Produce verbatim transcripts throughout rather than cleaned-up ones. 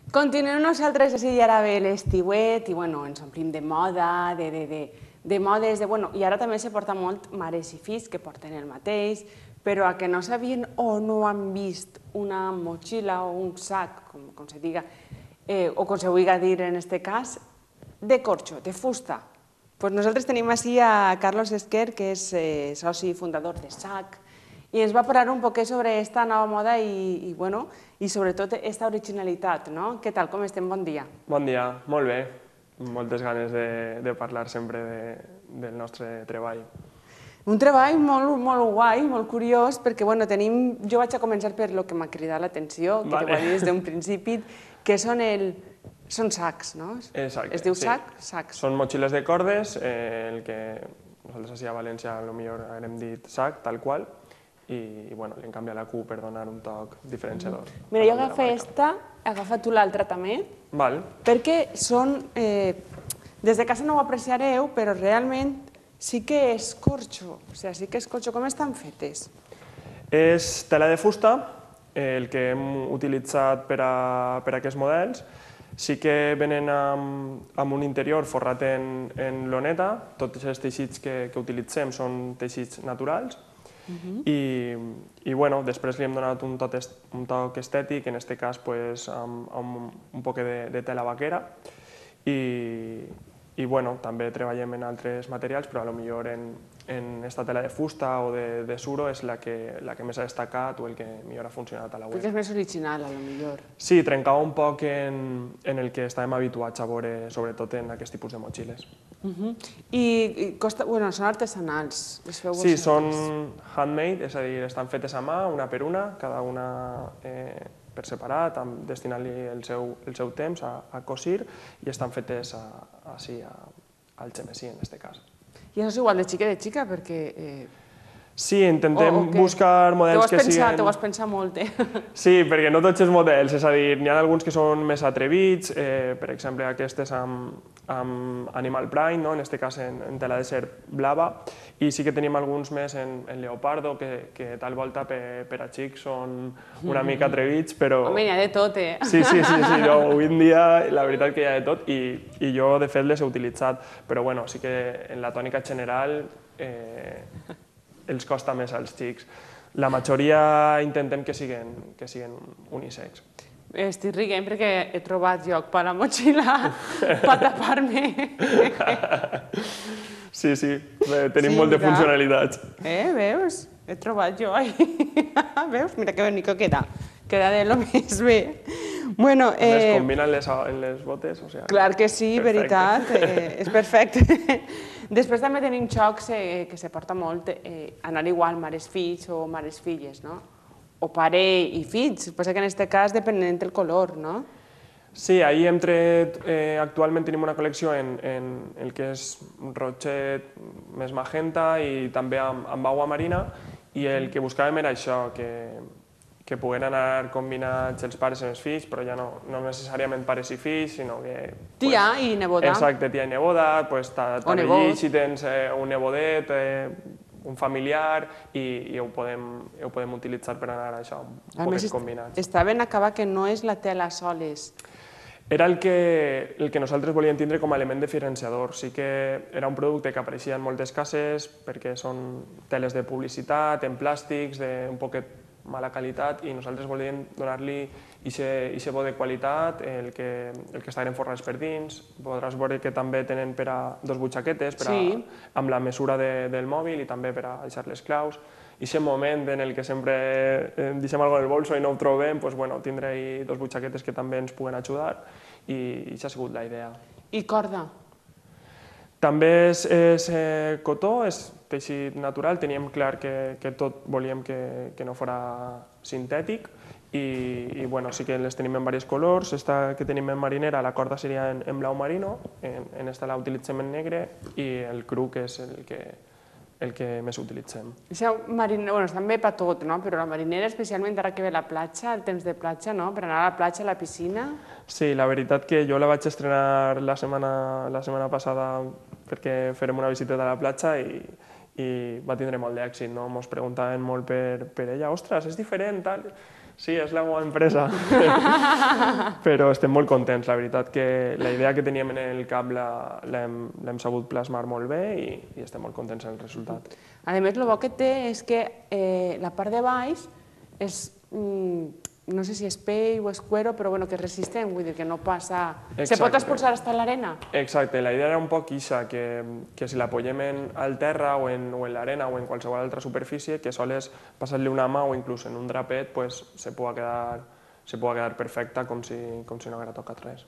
Continuem nosaltres, així ja ara ve l'estiuet i bueno, ens omplim de moda, de, de, de, de modes, de, bueno, i ara també se porta molt mares i fills que porten el mateix, però a que no sabien o no han vist una motxilla o un sac, com, com se diga, eh, o com se vulgui dir en aquest cas, de corxo, de fusta. Pues nosaltres tenim així a Carlos Esquer, que és eh, soci fundador de S A C, i ens va parlar un poquet sobre aquesta nova moda i, i, bueno, i sobretot aquesta originalitat, no? Què tal, com estem? Bon dia. Bon dia, molt bé. Moltes ganes de, de parlar sempre de, del nostre treball. Un treball molt, molt guai, molt curiós, perquè bueno, tenim... Jo vaig a començar per lo que m'ha cridat l'atenció, que vale. Te ho vaig dir des d'un principi, que són el... Són sacs, no? Exacte, es diu sí. sac? Sacs. Són motxilles de cordes, eh, el que nosaltres així a València potser hem dit sac, tal qual, i bueno, li hem canviat la Q per donar un toc diferenciador. Mm. Mira, jo agafa esta, agafa tu l'altra també, Val. perquè són... Eh, des de casa no ho apreciareu, però realment sí que és corxo, o sigui, sí que és corxo. Com estan fetes? És tela de fusta, eh, el que hem utilitzat per a, per a aquests models. Sí que venen amb, amb un interior forrat en, en loneta, tots els teixits que, que utilitzem són teixits naturals, uh-huh. i, i bueno, després li hem donat un toc, un toc estètic, en aquest cas pues, amb, amb un poc de, de tela vaquera, i, i bueno, també treballem en altres materials, però potser en, en esta tela de fusta o de, de suro és la que, la que més ha destacat o el que millor ha funcionat a la web. Perquè és més original, potser. Sí, trencava un poc en, en el que estàvem habituats a veure, sobretot en aquest tipus de motxilles. Uh-huh. I, i costa, bueno, són artesanals, les feu Sí, vosaltres? són handmade, és a dir, estan fetes a mà, una per una, cada una eh, per separat, destinant-li el, seu, el seu temps a, a cosir, i estan fetes a, així, a, al xemesí, en aquest cas. I això és igual de xica de xica, perquè... Eh... Sí, intentem o, o buscar models que pensat, siguin... T'ho has pensat molt, eh? Sí, perquè no tots els models, és a dir, n'hi ha alguns que són més atrevits, eh, per exemple aquestes amb, amb animal print, no? En aquest cas en, en tela de serp blava, i sí que tenim alguns més en, en leopardo, que, que tal volta per, per a xics són una mica atrevits, però... Home, n'hi ha de tot, eh? Sí, sí, sí, sí, no, avui en dia la veritat que hi ha de tot, i, i jo de fet les he utilitzat, però bueno, sí que en la tònica general eh, els costa més als xics. La majoria intentem que siguin, que siguin unisex. Estic rient perquè he trobat lloc per la motxilla per tapar-me. Sí, sí, tenim sí, molt de funcionalitats. Eh, veus? He trobat jo ahí. Veus? Mira que bonico queda. Queda de lo més bé. Bueno, eh... Les combinen les, en les botes, o sea... Clar que sí, perfecte. Veritat, eh, és perfecte. Després també tenim xocs eh, que se porta molt eh, anar igual mares-fills o mares-filles, no? O pare i fills, passa que en aquest cas depenent del color, no? Sí, ahir hem tret, eh, actualment tenim una col·lecció en, en el que és rotxet més magenta i també amb, amb aigua marina, i el que buscàvem era això, que que puguen anar combinats els pares i els fills, però ja no, no necessàriament pares i fills, sinó que... Tia pues, i neboda. Exacte, tia i neboda, pues, t'arreglis si tens eh, un nebodet, eh, un familiar, i, i ho, podem, ho podem utilitzar per anar a això, un poquet combinats. Està ben acabat que no és la tela soles. Era el que, el que nosaltres volíem tindre com a element diferenciador. Sí que era un producte que apareixia en moltes cases perquè són teles de publicitat, en plàstics, d'un poquet mala qualitat, i nosaltres volíem donar-li aquest bo de qualitat, el que, el que estaven forrats per dins. Podràs veure que també tenen per a dos butxaquetes, per a, sí. amb la mesura de, del mòbil, i també per a deixar les claus. I aquest moment en el que sempre deixem alguna cosa en el bolso i no ho trobem, doncs, bueno, tindre dos butxaquetes que també ens puguen ajudar, i això ha sigut la idea. I corda? També és, és eh, cotó, és teixit natural, teníem clar que, que tot volíem que, que no fos sintètic, i, i bueno, sí que les tenim en diversos colors. Esta que tenim en marinera, la corda seria en, en blau marino, en, en esta la utilitzem en negre, i el cru, que és el que, el que més utilitzem. Això marinera, bueno, està bé per tot, no? Però la marinera, especialment ara que ve la platja, el temps de platja, no? Per anar a la platja, a la piscina... Sí, la veritat que jo la vaig estrenar la setmana, la setmana passada perquè farem una visita a la platja, i, i va tindre molt d'èxit, no? Ens preguntaven molt per, per ella, ostres, és diferent, tal. Sí, és la meva empresa, però estem molt contents, la veritat que la idea que teníem en el cap l'hem sabut plasmar molt bé i, i estem molt contents en el resultat. A més, el bo que té és que eh, la part de baix és, mm, no sé si és pell o és cuero, però bueno, que és resistent, vull dir que no passa... Exacte. Se pot expulsar fins a l'arena? Exacte, la idea era un poc ixa, que, que si la apoyem en, al terra o en, o en l'arena o en qualsevol altra superfície, que sols passar-li una mà o inclús en un drapet pues, se pugui quedar, se pugui quedar perfecta com si, com si no haguera tocat res.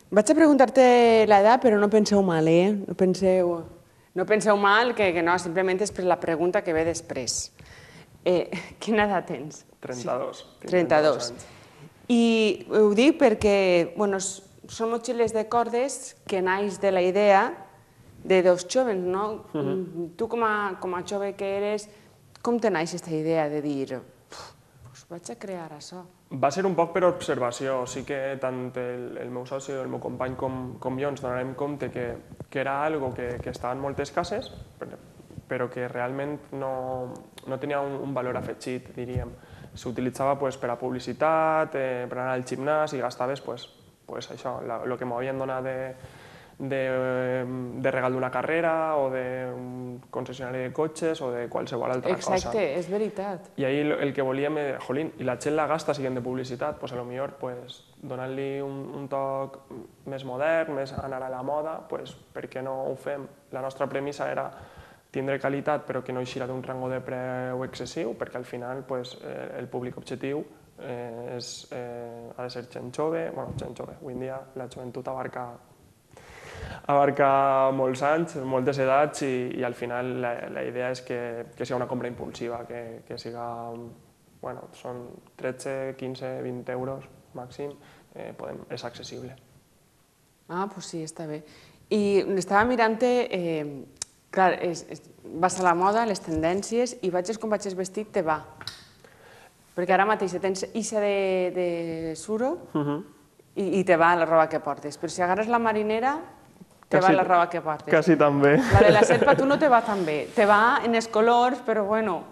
Vaig a preguntar-te l'edat, però no penseu mal, eh? No penseu, no penseu mal, que, que no, simplement és per la pregunta que ve després. Eh, quina edat tens? trenta-dos. Sí. trenta-dos. I ho dic perquè bueno, són motxilles de cordes que naix de la idea de dos joves, no? Uh-huh. Tu com a, com a jove que eres, com te naix aquesta idea de dir pues vaig a crear això? Va ser un poc per observació, sí que tant el, el meu soci, el meu company com, com jo ens donarem compte que, que era algo que, que estava en moltes cases, però que realment no, no tenia un, un valor afegit, diríem. S'utilitzava pues, per a publicitat, eh, per anar al gimnàs i gastaves pues, pues, això, el que m'havien donat de, de, de regal d'una carrera o d'un concessionari de cotxes o de qualsevol altra Exacte, cosa. Exacte, és veritat. I ahir el que volíem era, jolín, i la gent la gasta siguent de publicitat, pues, a lo millor pues, donant-li un, un toc més modern, més anar a la moda, pues, per què no ho fem? La nostra premissa era tindre qualitat però que no eixirà d'un rango de preu excessiu, perquè al final pues, eh, el públic objectiu eh, és, eh, ha de ser gent jove, bueno, gent jove, avui en dia la joventut abarca, abarca molts anys, moltes edats i, i al final la, la idea és que, que sigui una compra impulsiva, que, que siga, bueno, són tretze, quinze, vint euros màxim, eh, podem, és accessible. Ah, doncs sí, està bé. I estava mirant-te... Eh, Clar, és, és, vas a la moda, les tendències, i vagis com vagis vestit, te va. Perquè ara mateix tens ixa de, de suro uh-huh. i, i te va la roba que portes. Però si agarres la marinera, te quasi, va la roba que portes. Quasi també. La de la selva tu no te va tan bé. Te va en els colors, però bueno,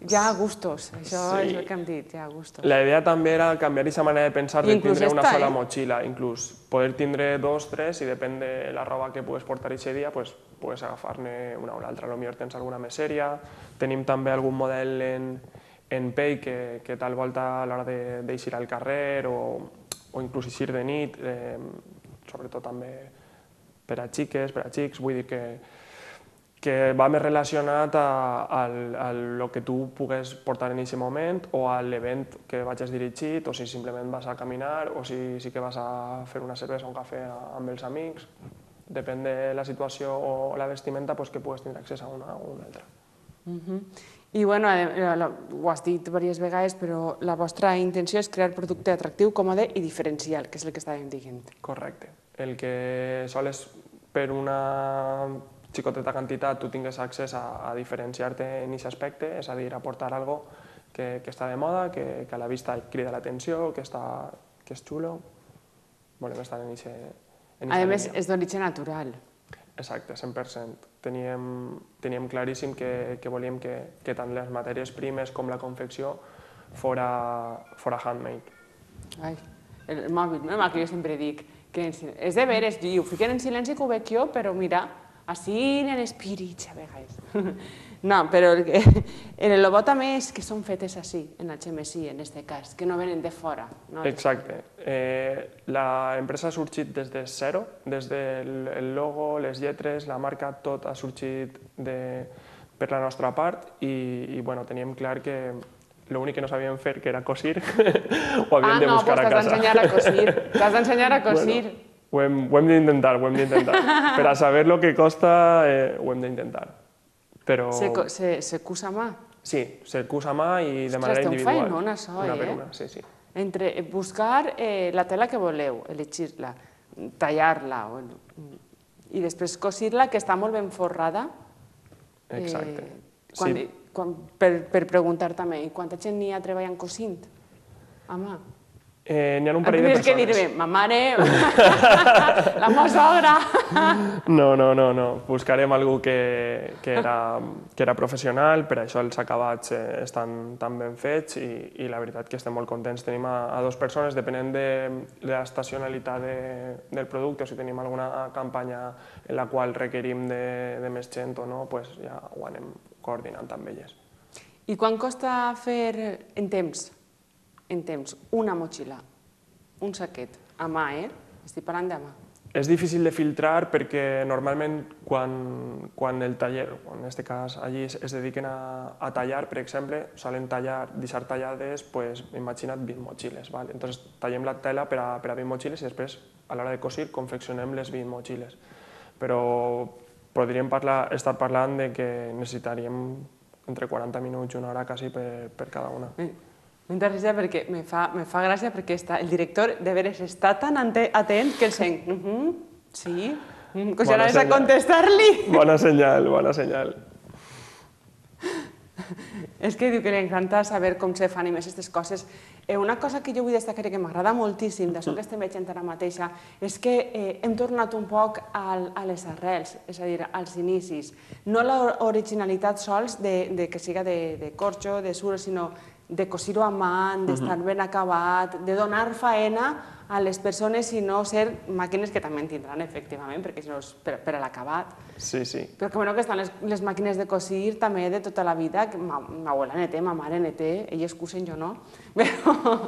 ja a gustos. Això sí. És el que hem dit, ja a gustos. La idea també era canviar aquesta manera de pensar de tindre una sola eh? motxilla, inclús poder tindre dos, tres, i depèn de la roba que pugues portar aquest dia, pues, pugues agafar-ne una o l'altra. Potser tens alguna més sèria, tenim també algun model en, en pell que, que tal volta a l'hora d'eixir al carrer o, o inclús eixir de nit, eh, sobretot també per a xiques, per a xics, vull dir que que va més relacionat a, a, a lo que tu pugues portar en aquest moment o a l'event que vagis dirigit o si simplement vas a caminar o si sí que vas a fer una cervesa o un cafè amb els amics. Depèn de la situació o la vestimenta pues, que pugues tindre accés a una o una altra. Uh-huh. I bueno, ho has dit diverses vegades, però la vostra intenció és crear producte atractiu, còmode i diferencial, que és el que estàvem dient. Correcte. El que sols per una xicoteta quantitat tu tingues accés a, a diferenciar-te en aquest aspecte, és a dir, aportar algo que, que està de moda, que, que a la vista crida l'atenció, que, està, que és xulo. Volem estar en aquest... A més, és d'origen natural. Exacte, cent per cent. Teníem, teníem claríssim que, que volíem que, que tant les matèries primes com la confecció fora, fora handmade. Ai, el mòbil, no? El que jo sempre dic, que és de veres, ho fiquen en silenci que ho veig jo, però mira, així en espírits a vegades. No, però el bo també és que són fetes així, en H M S I, en aquest cas, que no venen de fora. Exacte. L'empresa ha sorgit des de zero, des del logo, les lletres, la marca, tot ha sorgit per la nostra part i teníem clar que l'únic que no sabíem fer, que era cosir, ho havíem de buscar a casa. Ah, no, doncs t'has d'ensenyar a cosir. T'has d'ensenyar a cosir. Ho hem, ho hem d'intentar, ho hem d'intentar. Per a saber el que costa, eh, ho hem d'intentar. Però... Se, se, se cus a mà? Sí, se cus a mà i de manera individual. Ostres, té un feinón, això, una eh? per una, sí, sí. Entre buscar eh, la tela que voleu, elegir-la, tallar-la, bueno, i després cosir-la, que està molt ben forrada. Exacte. Eh, quan, sí. quan, per, per preguntar també, i quanta gent n'hi ha treballant cosint a mà? Eh, N'hi ha un parell de Tens que persones. dir-me, ma mare, la meva sogra... No, no, no, no. Buscarem algú que, que, era, que era professional, per això els acabats eh, estan tan ben fets i, i la veritat que estem molt contents. Tenim a, a dues persones, depenent de, de l'estacionalitat de, del producte, o si tenim alguna campanya en la qual requerim de, de més gent o no, pues ja ho anem coordinant amb elles. I quan costa fer en temps, en temps, una motxilla, un saquet, a mà, eh? Estic parlant de mà. És difícil de filtrar perquè normalment quan, quan el taller, en aquest cas allí es dediquen a, a tallar, per exemple, solen tallar, deixar tallades, pues, imagina't vint motxilles. Val? Entonces tallem la tela per a, per a vint motxilles i després, a l'hora de cosir, confeccionem les vint motxilles. Però podríem parlar, estar parlant de que necessitaríem entre quaranta minuts i una hora quasi per, per cada una. M'interessa perquè me fa, me fa gràcia perquè està, el director de veres està tan atent que el sent, uh -huh, sí, que ja anaves a contestar-li. Bona senyal, bona senyal. És que diu que li encanta saber com se fan i més aquestes coses. Eh, una cosa que jo vull destacar i que m'agrada moltíssim d'això que estem veient ara mateixa és que eh, hem tornat un poc al, a les arrels, és a dir, als inicis. No l'originalitat sols de, de que siga de, de corxo, de suro, sinó de cosir-ho a mà, d'estar ben acabat, de donar faena a les persones i no ser màquines que també en tindran, efectivament, perquè si no és per, per a l'acabat. Sí, sí. Però que bueno que estan les, les màquines de cosir també de tota la vida, que ma, ma abuela ne té, ma mare ne té, elles cusen, jo no, però,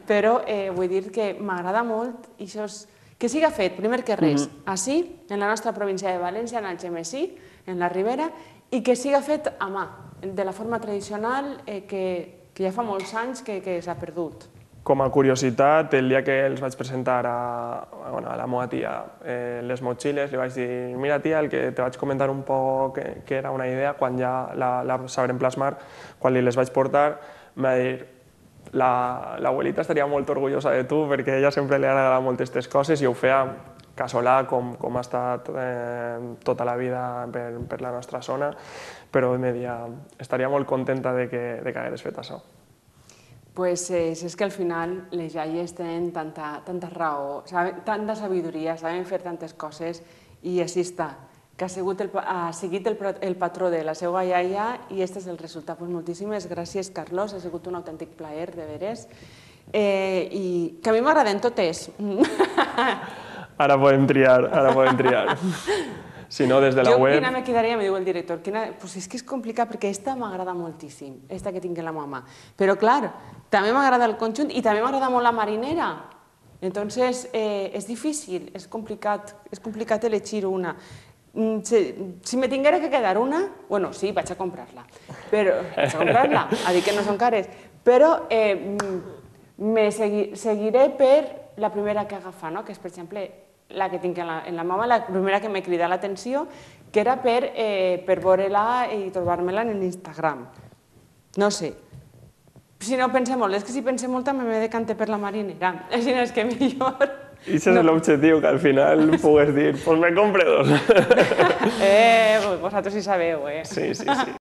però eh, vull dir que m'agrada molt i això és, que siga fet, primer que res, mm-hmm. així, en la nostra província de València, en Algemesí, en la Ribera, i que siga fet a mà, de la forma tradicional eh, que, que ja fa molts anys que, que s'ha perdut. Com a curiositat, el dia que els vaig presentar a, bueno, a la meva tia eh, les motxilles, li vaig dir, mira tia, el que te vaig comentar un poc que, que era una idea, quan ja la, la sabrem plasmar, quan li les vaig portar, em va dir, l'abuelita estaria molt orgullosa de tu perquè a ella sempre li agrada molt aquestes coses i ho feia casolà, com, com ha estat eh, tota la vida per, per la nostra zona, però em deia, estaria molt contenta de que, de que hagués fet això. Pues eh, és que al final les iaies tenen tanta, tanta raó, saben, tanta sabidoria, saben fer tantes coses i així està, que ha, sigut el, ha seguit el, el patró de la seva iaia i aquest és el resultat. Pues moltíssimes gràcies, Carlos, ha sigut un autèntic plaer, de veres, eh, i que a mi m'agraden totes. Ara podem triar, ara podem triar. Si no, des de la jo, web... quina me quedaria, me diu el director, quina... pues és que és complicat perquè aquesta m'agrada moltíssim, aquesta que tinc en la mama. Però clar, també m'agrada el conjunt i també m'agrada molt la marinera. Entonces, eh, és difícil, és complicat, és complicat elegir una. Si, si me tinguera que quedar una, bueno, sí, vaig a comprar-la, però vaig a comprar-la, a dir que no són cares, però eh, me segui, seguiré per la primera que agafa, no? Que és, per exemple, la que tinc en la, en la mama, la primera que m'ha cridat l'atenció, que era per, eh, per veure-la i trobar-me-la en l'Instagram. No sé. Si no pense molt, és que si pense molt també me decante per la marinera. Així no és que millor... I ese no. És l'objectiu, que al final pugues dir, pues me compre dos. Eh, vosaltres sí sabeu, eh? Sí, sí, sí.